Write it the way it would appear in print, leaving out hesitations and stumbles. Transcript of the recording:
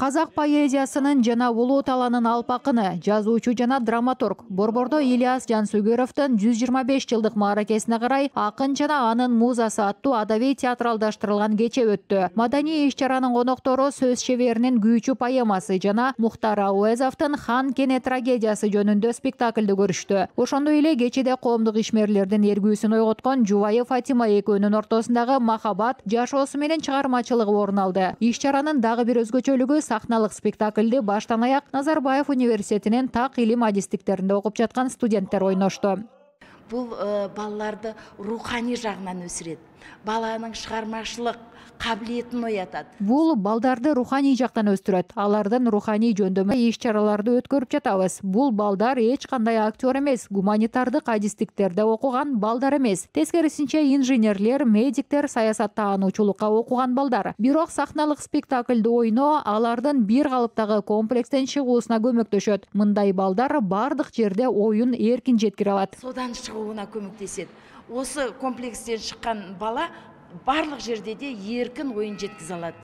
Казак поэзиясынын жана улуу талаанын алпакыны, жазуучу жана драматург Борбордо Ильяс Жансүгүрөвдүн 125 жылдык мааракесине карай акын жана анын музасы аттуу адабий театралдаштырылган кече өттү. Маданий иш-чаранын коноктору сөз шеберинин Күйчү поэмасы жана Мухтар Ауэзовдун Хан Кене трагедиясы жөнүндө спектакльди көрүштү. Ошондой эле кечеде коомдук ишмерлердин эргүүсүн ойготкон Жубайы Фатима экөөнүн ортосундагы махабат жашоосу менен чыгармачылыгы орун алды. Иш-чаранын дагы бир өзгөчөлүгү сахналык спектакльди баштан аяк Назарбаев университетинин так илим адистиктеринде окуп жаткан студенттер ойношту. Бул балаларды руханий жагынан өсүрөт. Баланын чыгармачылык кабилетин оятат. Бул балдарды руханий жактан өстүрөт. Алардын руханий жөндөмө иш-чараларды өткөрүп жатабыз. Бул балдар эч кандай актер эмес, гуманитардык адистиктерде окуган балдар эмес. Тескерисинче инженерлер, медиктер, саясаттаануучулукка окуган балдар. Бирок сахналык спектакльди ойноо алардын бир калыптагы комплекстен чыгуусуна көмөктөшөт. Мындай балдар бардык жерде оюн эркин жеткире алат. Содан чыгууна көмөктөшөт. Осы комплекстен чыккан бала барлык жерде де эркин оюн жеткизе алат.